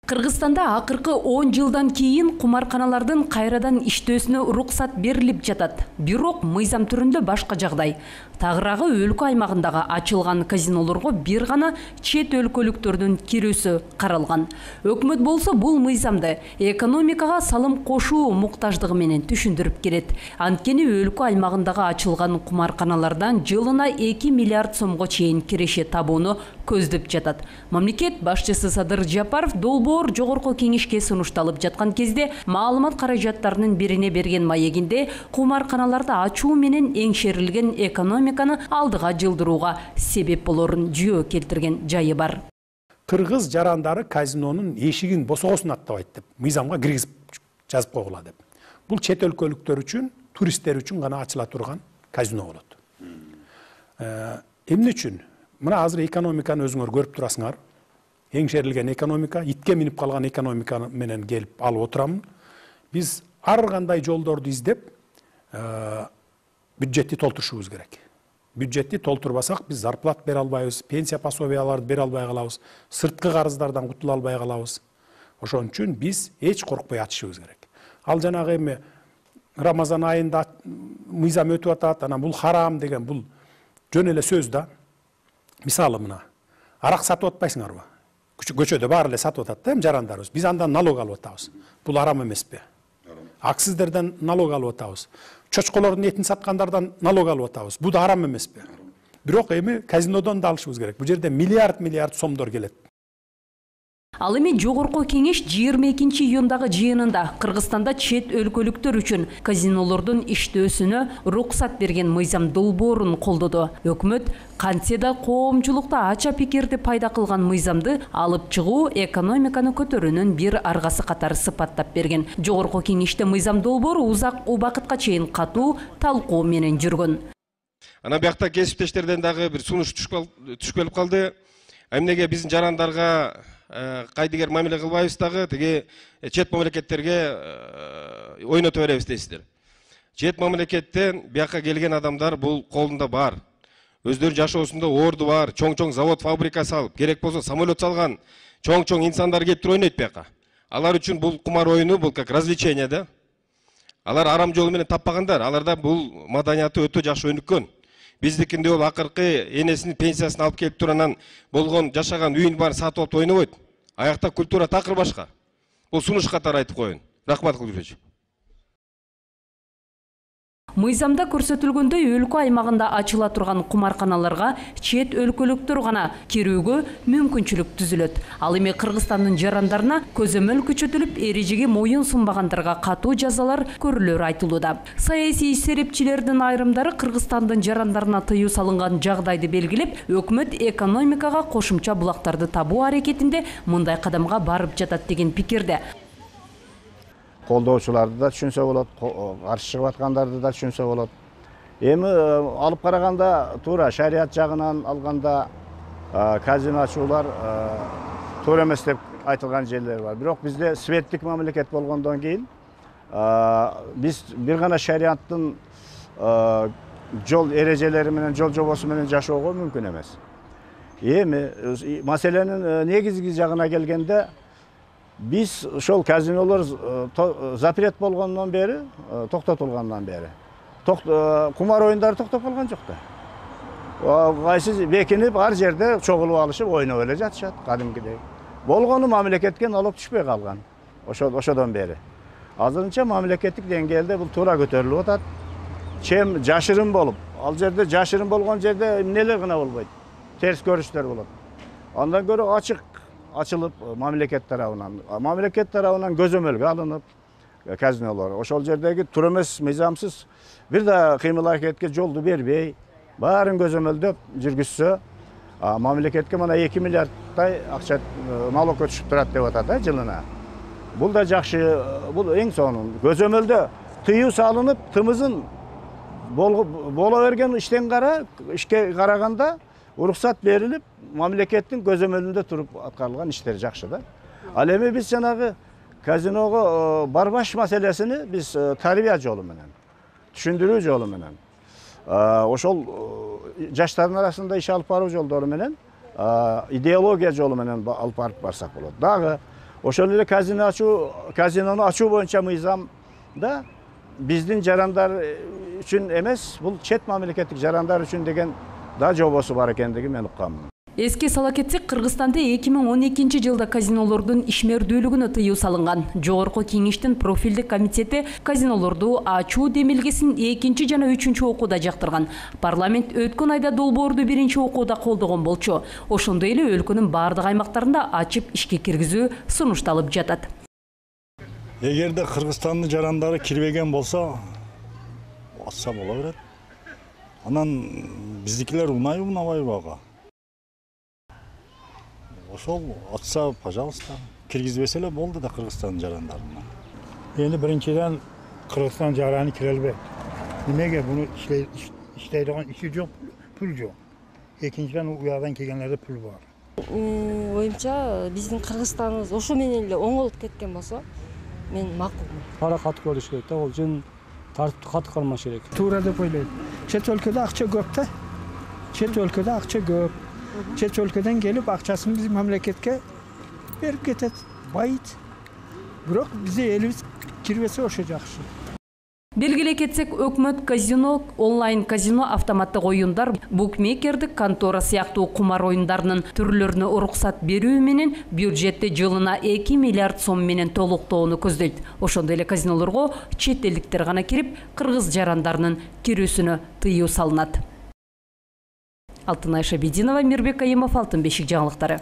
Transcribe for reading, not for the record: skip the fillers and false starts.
Кыргызстанда акыркы 10 жылдан кийин кумарканалардын кайрадан иштөөсүнө уруксат берилип жатат. Бирок мыйзам түрүндө башка жагдай. Тагыраагы өлкө аймагындагы ачылган казинолорго бир гана чет өлкөлүктөрдүн кирүүсү каралган. Өкмөт болсо бул мыйзамды экономикага салым кошуу муктаждыгы менен түшүндүрүп келет. Анткени өлкө аймагындагы ачылган кумарканалардан жылына 2 миллиард сомго чейин киреше табууну көздөп жатат. Мамлекет башчысы Садыр Жапаров долбоор жогорку кеңешке сунушталып жаткан кезде маалымат каражаттарынын бирине берген маегинде кумарканаларды ачуу менен эңшерилген экономиканы алдыга жылдырууга себеп болорун жүйө келтирген жайы бар. Кыргыз жарандары казинонун эшигин босогосун аттабайт деп мыйзамга киргизип жазып койгула деп. Бул чет өлкөлүктөр үчүн, туристтер үчүн гана ачыла турган казино болот. Эмне үчүн? Мына азыр экономиканы өзүңөр көрүп турасыңар. Эңшерилген экономика, итке минип калган экономика менен келип алып отурамын. Биз ар кандай жолдорду издеп, бюджетти толтурушубуз керек. Бюджетти толтурбасак, биз зарплат бере албайбыз, пенсия пособияларды бере албай калабыз, сырткы карыздардан кутула албай калабыз. Ошон үчүн биз эч коркпой ачышыбыз керек. Ал жанагы эми Рамазан айында мыйзам өтүп атат, анан бул харам деген бул жөн эле сөз да. Мисалы мына, арак сатып атпайсыңарбы? Көчөдө баары эле сатып атат да, жарандарыбыз. Биз андан налог алып атабыз. Бул арам эмеспи? Акциздерден налог алып атабыз. Чочколордун этин саткандардан налог алып атабыз. Бул да арам эмеспи? Бирок эми казинодон да алышыбыз керек. Бул жерде миллиард сомдор келет. Ал эми жогорку кеңеш 22-июндагы жыйынында Кыргызстанда чет өлкөлүктөр үчүн казинолордун иштөөсүнө уруксат берген мыйзам долбоорун колдоду. Өкмөт кантсе да коомчулукта ача пикирди пайда кылган мыйзамды алып чыгуу экономиканы көтөрүүнүн бир аргасы катары сыпаттап берген. Жогорку кеңеште мыйзам долбоору узак убакытка чейин катуу талкуу менен жүргөн. Анан биякта кесиптештерден дагы бир сунуш түшүп келип калды. Эмнеге биздин жарандарга кайдыгер мамиле кылбайбыз дагы, тиги чет мамлекеттерге ойнотуп беребиз дейсиздер. Чет мамлекеттен бияка келген адамдар бул колунда бар. Өздөрү жашоосунда орду бар, чоң-чоң завод, фабрика салып, керек болсо самолет салган чоң-чоң инсандар келип туруп ойнойт бияка. Алар үчүн бул кумар оюну бул как развлечение да. Алар арам жолу менен таппагандар, аларда бул маданияты өтө жакшы өнүккөн. Биздикинде ол акыркы энесинин пенсиясын алып келип туранан болгон жашаган үйүн бар сатып алып ойнобойт. Аякта культура такыр башка. Бул сунуш катары айтып коеюн. Рахмат кылып. Мыйзамда көрсөтүлгөндөй өлкө аймагында ачыла турган кумарканаларга чет өлкөлүктөр гана кирүүгө мүмкүнчүлүк түзүлөт. Ал эми Кыргызстандын жарандарына көзөмөл күчөтүлүп, эрежеге моюн сунбагандарга катуу жазалар көрүлөрү айтылууда. Саясий серепчилердин айрымдары Кыргызстандын жарандарына тыюу салынган жагдайды белгилеп, өкмөт экономикага кошумча булактарды табуу аракетинде мындай кадамга барып жатат деген пикирде. Колдоочуларды да түшүнсө болот, каршы чыгып аткандарды да түшүнсө болот. Эми алып караганда туура шарият жагынан алганда казино ачуулар туура эмес деп айтылган жерлер бар. Бирок бизде светтик мамлекет болгондон кийин биз бир гана шариаттын жол эрежелери менен, жол жобосу менен жашоого мүмкүн эмес. Эми маселенин негизги жагына келгенде биз ошол казинолор запрет болгондон бери, токтотулгандан бери. Кумар оюндары токтоп калган жок да. Кайсы бекинип, ар жерде чогулуп алышып, ойноп эле жатышат кадимкидей. Болгону мамлекетке налог түшпөй калган. Ошодон бери. Азырынча мамлекеттик деңгээлде бул туура көтөрүлүп атат. Чем жашырын болуп, ал жерде жашырын болгон жерде эмнелер гана болбойт. Терс көрүштөр болот. Андан көрө ачык ачылып мамлекет тарабынан көзөмөлгө алынып казинолор. Ошол жердеги туура эмес мыйзамсыз бир да кыймыл аракетке жолду бербей, баарын көзөмөлдөп жүргүзсө, мамлекетке мына 2 миллиардтай акча налог өтүшүп турат деп атат да жылына. Бул да жакшы, бул эң сонун. Көзөмөлдө тыюу салынып, тымызын боло берген иштен ишке караганда уруксат берилип, мамлекеттин көзөмөлүндө туруп аткарылган иштер жакшы да. Ал эми биз жанагы казиного барбаш маселесини биз тарбия жолу менен, түшүндүрүү жолу менен, ошол жаштардын арасында иш алып баруу жолдору менен, идеология жолу менен алып барып барсак болот. Дагы Ошол эле казинону ачуу боюнча мыйзамда биздин жарандар үчүн эмес, бул чет мамлекеттик жарандар үчүн деген да жобосу бар экендигин мен укканмын. Эске сала кетсек, Кыргызстанда 2012 жылда казинолордун ишмердүүлүгүнө тыюу салынган. Жогорку Кеңештин профилдик комитети казинолорду ачуу демилгесин 2 жана 3 окууда жактырган. Парламент өткөн айда долбоорду 1 окууда колдогон болчу. Ошондой эле өлкөнүн бардык аймактарында ачып ишке киргизүү сунушталып жатат. Эгерде Кыргызстандын жарандары кирбеген болсо, атса боло берет. Анан биздикилер унайбы, унабайбы ага? Ошол атса, пожалуйста, киргизбесе эле болду да Кыргызстандын жарандарына. Эми биринчиден Кыргызстан жараны кире албайт. Немеге буну иштейдиган иши жок, пул жок. Экинчиден уядан келгендерде пул бар. Оюмча биздин Кыргызстаныбыз ошо менен эле оңолуп кеткен болсо, мен макулмун. Кара катык болуш керек да, ол үчүн тартипти катык кармаш керек. Туура деп ойлойм. Чет өлкөдө акча көп да. Чет өлкөдө акча көп. Чет өлкөдөн келип акчасын биз мамлекетке берип кетет, байыт. Бирок биздин элибиз кирбесе ошо жакшы. Белгилей кетсек, өкмөт казино, онлайн казино, автоматтык оюндар, букмекердик контора сыяктуу кумар оюндарынын түрлөрүнө уруксат берүү менен бюджетти жылына 2 миллиард сом менен толуктоону көздөйт. Ошондой эле казинолорго чет элдиктер гана кирип, кыргыз жарандарынын кирүүсүнө тыюу салынат. Алтынай Шабидинова, Мирбек Айымов, Алтын бешик жаңылыктары.